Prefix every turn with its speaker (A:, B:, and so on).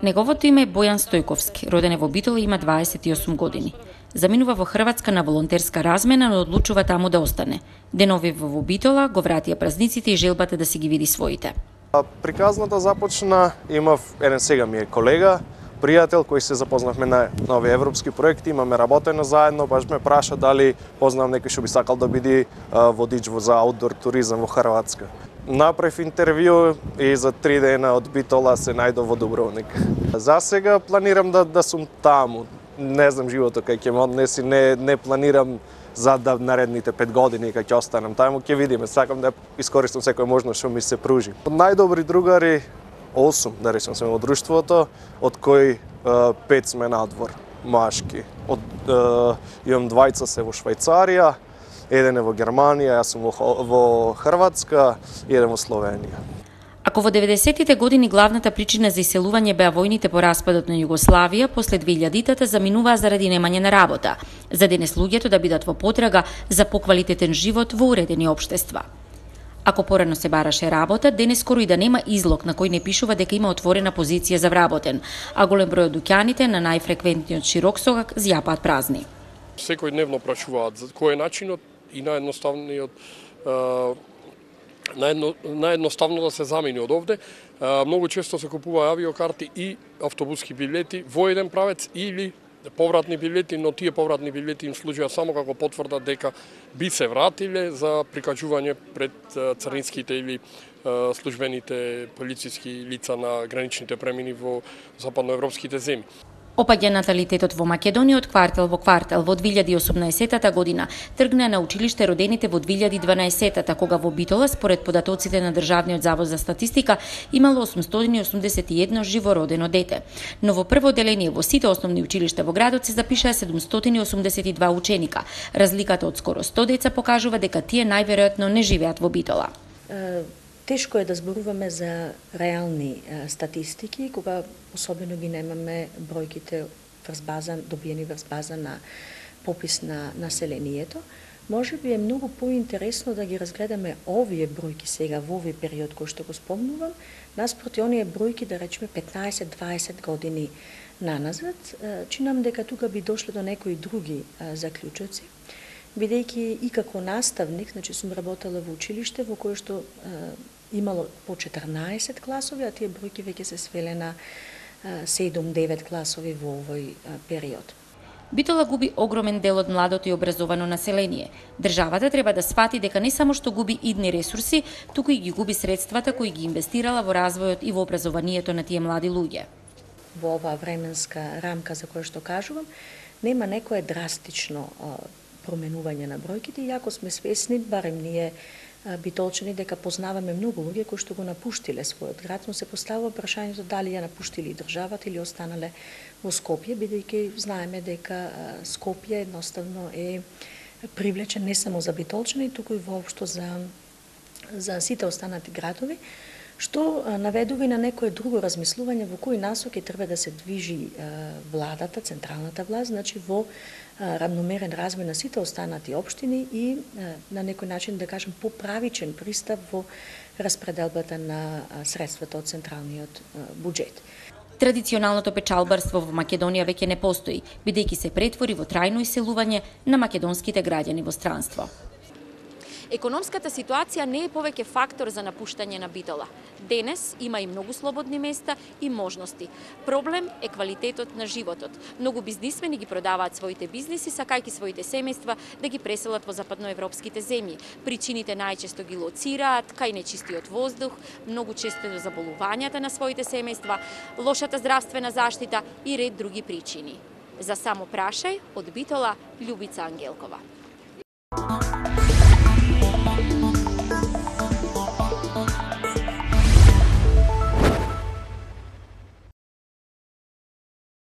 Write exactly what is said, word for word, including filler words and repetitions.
A: Неговото име е Бојан Стојковски, роден е во Битола и има дваесет и осум години. Заминува во Хрватска на волонтерска размена, но одлучува таму да остане. Деновива во Битола го вратија празниците и желбата да си ги види своите.
B: Приказната започна, имав еден сега ми е колега, пријател кој се запознавме на нови европски проекти, имаме работено заедно, баш ме праша дали познавам некој што би сакал да биде водич за аутдор туризам во Хрватска. Направив интервју и за три дена од Битола се најдов во Дубровник. За сега планирам да да сум таму. Не знам животот кај ќе ме однеси, не не планирам за да наредните пет години кога ќе останам таму, ќе видиме. Сакам да искористам секоја можност што ми се пружи. Од најдобри другари осум, да речем, сме во друштвото, од кои пет сме надвор, машки. Од имам двајца се во Швајцарија, еден е во Германија, јас сум во, во Хрватска и еден во Словенија.
A: Ако во деветдесетите години главната причина за иселување беа војните по распадот на Југославија, после две илјадитата заминуваа заради немање на работа, за денес луѓето да бидат во потрага за поквалитетен живот во уредени општества. Ако порано се бараше работа, денес скоро и да нема излог на кој не пишува дека има отворена позиција за вработен, а голем број од дуќаните на најфреквентниот широксогак зјапаат празни.
C: Секојдневно прашуваат за кој е начинот и наједноставниот наједно, наједноставно да се замени од овде. Многу често се купува авиокарти и автобуски билети во еден правец или повратни билети, но тие повратни билети им служат само како потврда дека би се вратиле за прикажување пред царинските или службените полициски лица на граничните премини во западноевропските земји.
A: Опаѓа наталитетот во Македонија од квартал во квартал. Во две илјади и осумнаесетата година тргна на училиште родените во две илјади и дванаесетата, кога во Битола, според податоците на Државниот завод за статистика, имало осумстотини и осумдесет и едно живородено дете. Но во прво одделение во сите основни училишта во градот се запишаа седумстотини и осумдесет и два ученика. Разликата од скоро сто деца покажува дека тие најверојатно не живеат во Битола.
D: Тешко е да зборуваме за реални а, статистики, кога особено ги немаме бројките врз база, добиени врз база на попис на населението. Може би е многу поинтересно да ги разгледаме овие бројки сега во овој период кој што го спомнувам, наспроти оние бројки, да речеме петнаесет-дваесет години наназад, чинам дека тука би дошле до некои други а, заклучоци. Бидејќи и како наставник, значи сум работела во училиште во кое што е, имало по четрнаесет класови, а тие бројки веќе се свеле на седум-девет класови во овој е, период.
A: Битола губи огромен дел од младото и образовано население. Државата треба да свати дека не само што губи идни ресурси, туку и ги губи средствата кои ги инвестирала во развојот и во образованието на тие млади луѓе.
D: Во оваа временска рамка за која што кажувам, нема некое драстично променување на бројките, иако сме свесни, барем ние битолчани, дека познаваме многу луѓе кои што го напуштиле својот град, но се поставува прашањето дали ја напуштили државата или останале во Скопје, бидејќи знаеме дека Скопје едноставно е привлечен не само за битолчани, туку и воопшто за за сите останати градови, што наведува и на некое друго размислување во кои насоки треба да се движи владата, централната власт, значи во равномерен развој на сите останати општини и на некој начин, да кажем, поправичен пристап во распределбата на средствата од централниот буџет.
A: Традиционалното печалбарство во Македонија веќе не постои, бидејќи се претвори во трајно иселување на македонските граѓани во странство.
E: Економската ситуација не е повеќе фактор за напуштање на Битола. Денес има и многу слободни места и можности. Проблем е квалитетот на животот. Многу бизнисмени ги продаваат своите бизниси, сакајќи своите семејства да ги преселат во западноевропските земји. Причините најчесто ги лоцираат кај нечистиот воздух, многу често до заболувањата на своите семејства, лошата здравствена заштита и ред други причини. За само прашај од Битола, Љубица Ангелкова.